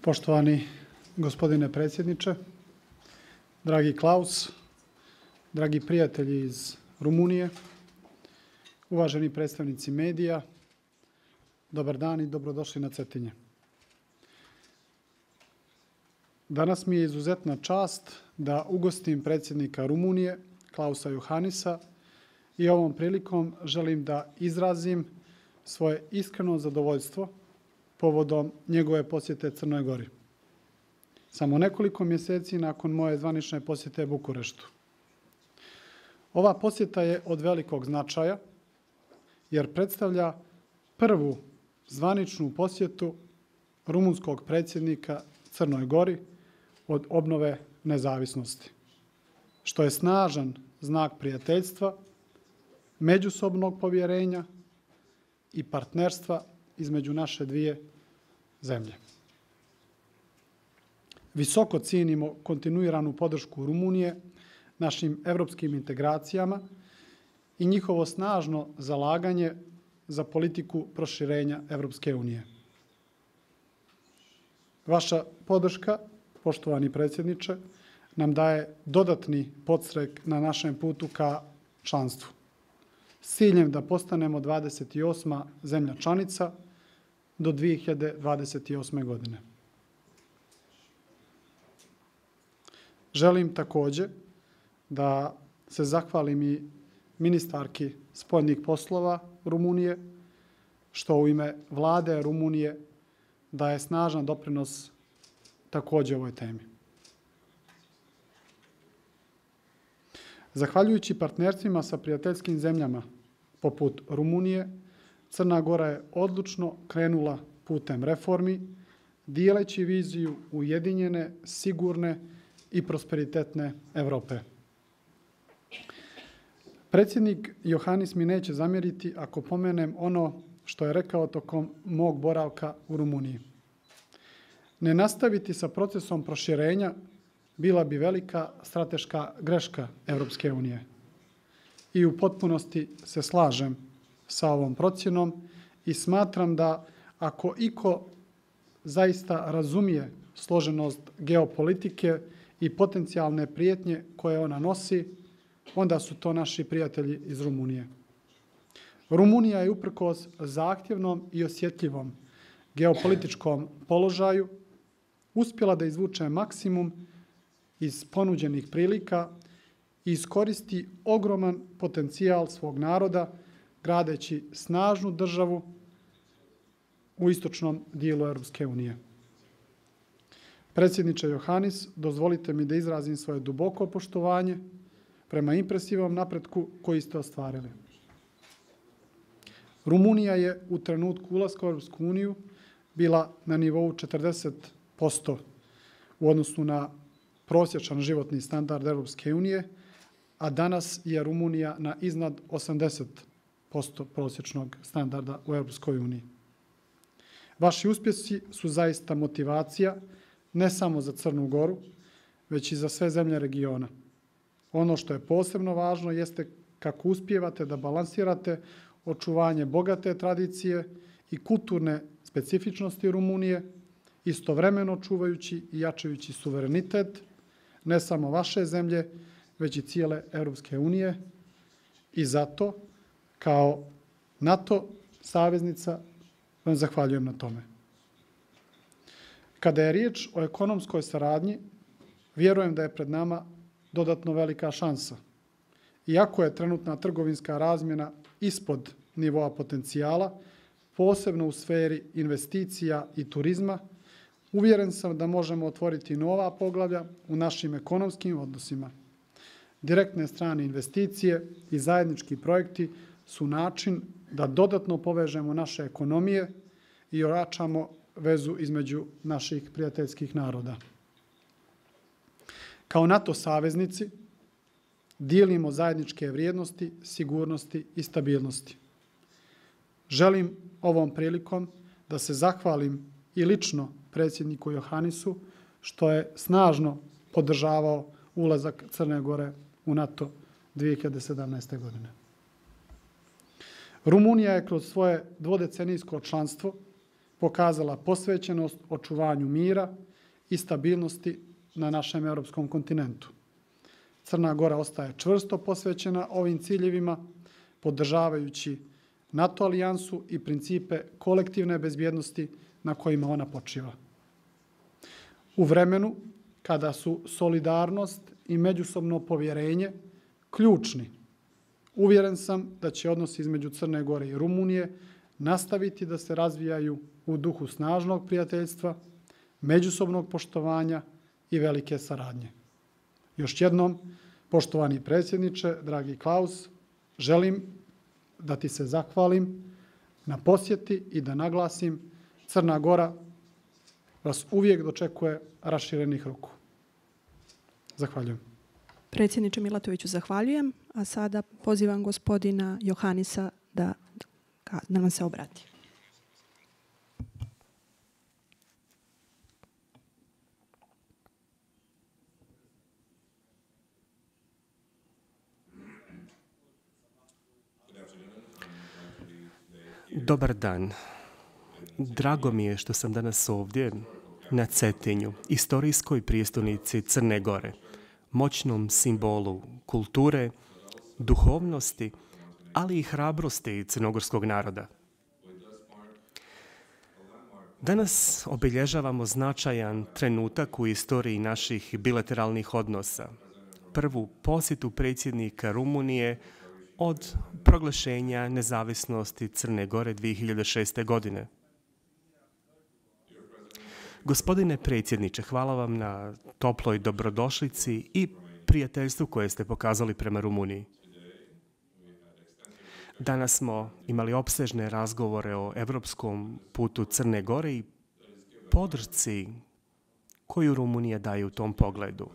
Poštovani gospodine predsjedniče, dragi Klaus, dragi prijatelji iz Rumunije, uvaženi predstavnici medija, dobar dan i dobrodošli na Cetinje. Danas mi je izuzetna čast da ugostim predsjednika Rumunije, Klausa Johannisa, i ovom prilikom želim da izrazim svoje iskreno zadovoljstvo povodom njegove posjete Crnoj Gori. Samo nekoliko mjeseci nakon moje zvanične posjete Bukureštu. Ova posjeta je od velikog značaja jer predstavlja prvu zvaničnu posjetu rumunskog predsjednika Crnoj Gori od obnove nezavisnosti, što je snažan znak prijateljstva, međusobnog povjerenja i partnerstva između naše dvije zemlje. Visoko cijenimo kontinuiranu podršku Rumunije našim evropskim integracijama i njihovo snažno zalaganje za politiku proširenja Evropske unije. Vaša podrška, poštovani predsjedniče, nam daje dodatni podstrek na našem putu ka članstvu, s ciljem da postanemo 28. zemlja članica do 2028. godine. Želim također da se zahvalim i ministarki spoljnih poslova Rumunije, što u ime Vlade Rumunije daje snažan doprinos također ovoj temi. Zahvaljujući partnerstvima sa prijateljskim zemljama poput Rumunije, Crna Gora je odlučno krenula putem reformi, dijeleći viziju ujedinjene, sigurne i prosperitetne Europe. Predsjednik Johannis mi neće zamjeriti ako pomenem ono što je rekao tokom mog boravka u Rumuniji. Ne nastaviti sa procesom proširenja bila bi velika strateška greška Europske unije. I u potpunosti se slažem sa ovom procjenom i smatram da ako iko zaista razumije složenost geopolitike i potencijalne prijetnje koje ona nosi, onda su to naši prijatelji iz Rumunije. Rumunija je uprkos zahtjevnom i osjetljivom geopolitičkom položaju uspjela da izvuče maksimum iz ponuđenih prilika i iskoristi ogroman potencijal svog naroda gradeći snažnu državu u istočnom dijelu Europske unije. Predsjedniče Johannis, dozvolite mi da izrazim svoje duboko poštovanje prema impresivnom napretku koji ste ostvarili. Rumunija je u trenutku ulaska u Europsku uniju bila na nivou 40% u odnosu na prosječan životni standard Europske unije, a danas je Rumunija na iznad 80% prosječnog standarda u Europskoj uniji. Vaši uspjesi su zaista motivacija ne samo za Crnu Goru, već i za sve zemlje regiona. Ono što je posebno važno jeste kako uspijevate da balansirate očuvanje bogate tradicije i kulturne specifičnosti Rumunije, istovremeno čuvajući i jačajući suverenitet ne samo vaše zemlje, već i cijele Europske unije. I zato, kao NATO saveznica, vam zahvaljujem na tome. Kada je riječ o ekonomskoj saradnji, vjerujem da je pred nama dodatno velika šansa. Iako je trenutna trgovinska razmjena ispod nivoa potencijala, posebno u sferi investicija i turizma, uvjeren sam da možemo otvoriti nova poglavlja u našim ekonomskim odnosima. Direktne strane investicije i zajednički projekti su način da dodatno povežemo naše ekonomije i ojačamo vezu između naših prijateljskih naroda. Kao NATO saveznici dijelimo zajedničke vrijednosti, sigurnosti i stabilnosti. Želim ovom prilikom da se zahvalim i lično predsjedniku Johannisu što je snažno podržavao ulazak Crne Gore u NATO 2017. godine. Rumunija je kroz svoje dvodecenijsko članstvo pokazala posvećenost očuvanju mira i stabilnosti na našem europskom kontinentu. Crna Gora ostaje čvrsto posvećena ovim ciljevima, podržavajući NATO alijansu i principe kolektivne bezbjednosti na kojima ona počiva. U vremenu kada su solidarnost i međusobno povjerenje ključni, uvjeren sam da će odnosi između Crne Gore i Rumunije nastaviti da se razvijaju u duhu snažnog prijateljstva, međusobnog poštovanja i velike saradnje. Još jednom, poštovani predsjedniče, dragi Klaus, želim da ti se zahvalim na posjeti i da naglasim Crna Gora vas uvijek dočekuje raširenih ruku. Zahvaljujem. Predsjedniče Milatoviću, zahvaljujem, a sada pozivam gospodina Johannisa da nam se obrati. Dobar dan. Drago mi je što sam danas ovdje na Cetinju, istorijskoj prijestolnici Crne Gore, moćnom simbolu kulture, duhovnosti, ali i hrabrosti crnogorskog naroda. Danas obilježavamo značajan trenutak u istoriji naših bilateralnih odnosa. Prvu posjetu predsjednika Rumunije od proglašenja nezavisnosti Crne Gore 2006. godine. Gospodine predsjedniče, hvala vam na toploj dobrodošlici i prijateljstvu koje ste pokazali prema Rumuniji. Danas smo imali opsežne razgovore o evropskom putu Crne Gore i podršci koju Rumunija daje u tom pogledu.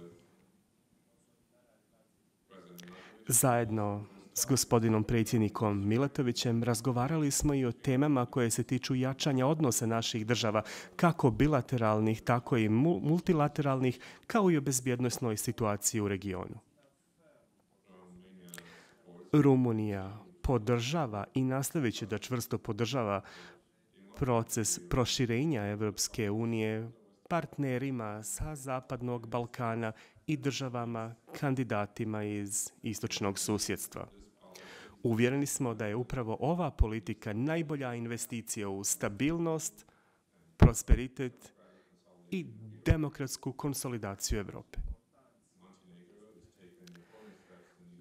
Zajedno s gospodinom predsjednikom Milatovićem razgovarali smo i o temama koje se tiču jačanja odnosa naših država, kako bilateralnih, tako i multilateralnih, kao i o bezbjednosnoj situaciji u regionu. Rumunija podržava i nastavit će da čvrsto podržava proces proširenja Evropske unije partnerima sa Zapadnog Balkana i državama kandidatima iz istočnog susjedstva. Uvjereni smo da je upravo ova politika najbolja investicija u stabilnost, prosperitet i demokratsku konsolidaciju Europe.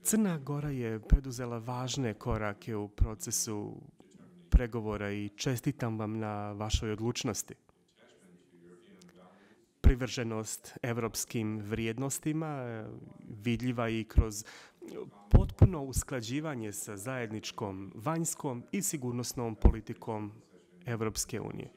Crna Gora je preduzela važne korake u procesu pregovora i čestitam vam na vašoj odlučnosti. Privrženost evropskim vrijednostima vidljiva i kroz potpuno usklađivanje sa zajedničkom vanjskom i sigurnosnom politikom Evropske unije.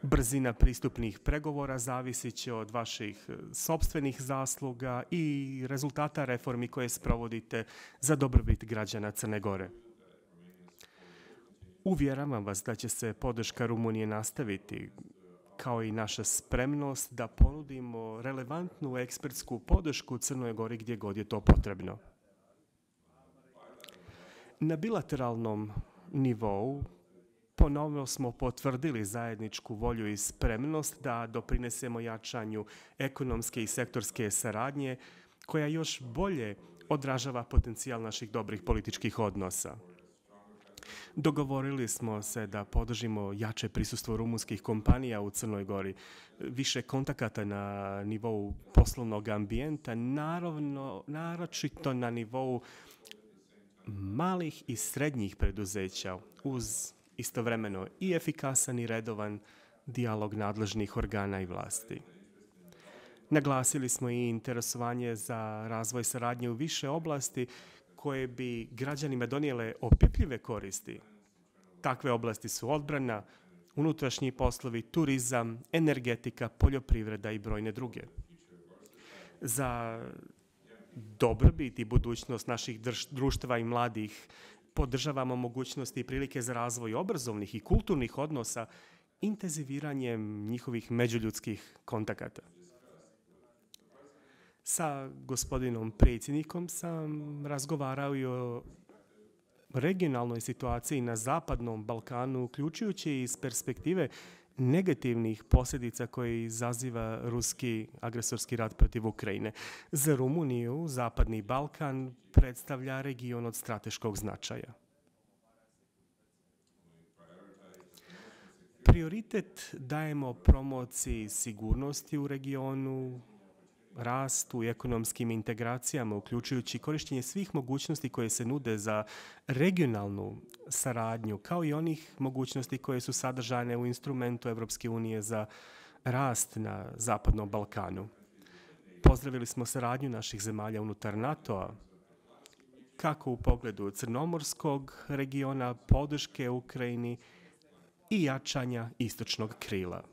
Brzina pristupnih pregovora zavisit će od vaših sopstvenih zasluga i rezultata reformi koje sprovodite za dobrobit građana Crne Gore. Uvjeravam vas da će se podrška Rumunije nastaviti, kao i naša spremnost da ponudimo relevantnu ekspertsku podršku Crnoj Gori gdje god je to potrebno. Na bilateralnom nivou ponovno smo potvrdili zajedničku volju i spremnost da doprinesemo jačanju ekonomske i sektorske saradnje koja još bolje odražava potencijal naših dobrih političkih odnosa. Dogovorili smo se da podržimo jače prisustvo rumunskih kompanija u Crnoj Gori, više kontakata na nivou poslovnog ambijenta, naročito na nivou malih i srednjih preduzeća, uz istovremeno i efikasan i redovan dijalog nadležnih organa i vlasti. Naglasili smo i interesovanje za razvoj saradnje u više oblasti koje bi građanima donijele opipljive koristi. Takve oblasti su odbrana, unutrašnji poslovi, turizam, energetika, poljoprivreda i brojne druge. Za dobrobit i budućnost naših društva i mladih podržavamo mogućnosti i prilike za razvoj obrazovnih i kulturnih odnosa intenziviranjem njihovih međuljudskih kontakata. Sa gospodinom predsjednikom sam razgovarao i o regionalnoj situaciji na Zapadnom Balkanu, uključujući iz perspektive negativnih posljedica koje izaziva ruski agresorski rat protiv Ukrajine. Za Rumuniju Zapadni Balkan predstavlja region od strateškog značaja. Prioritet dajemo promociji sigurnosti u regionu, rastu i ekonomskim integracijama, uključujući korištenje svih mogućnosti koje se nude za regionalnu saradnju, kao i onih mogućnosti koje su sadržane u instrumentu Evropske unije za rast na Zapadnom Balkanu. Pozdravili smo saradnju naših zemalja unutar NATO-a, kako u pogledu crnomorskog regiona, podrške Ukrajini i jačanja istočnog krila.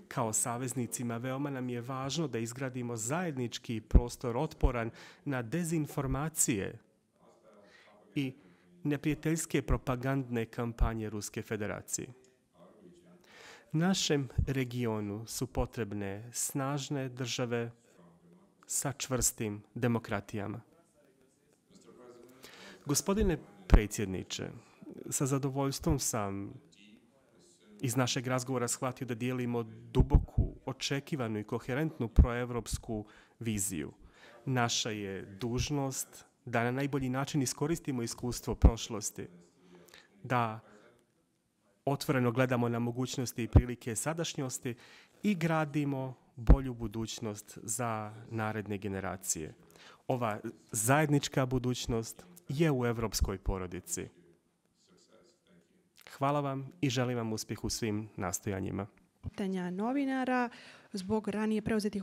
Kao saveznicima veoma nam je važno da izgradimo zajednički prostor otporan na dezinformacije i neprijateljske propagandne kampanje Ruske federacije. Našem regionu su potrebne snažne države sa čvrstim demokratijama. Gospodine predsjedniče, sa zadovoljstvom sam iz našeg razgovora shvatio da dijelimo duboku, očekivanu i koherentnu proevropsku viziju. Naša je dužnost da na najbolji način iskoristimo iskustvo prošlosti, da otvoreno gledamo na mogućnosti i prilike sadašnjosti i gradimo bolju budućnost za naredne generacije. Ova zajednička budućnost je u evropskoj porodici. Hvala vam i želim vam uspjeh u svim nastojanjima. Pitanja novinara zbog ranije preuzetih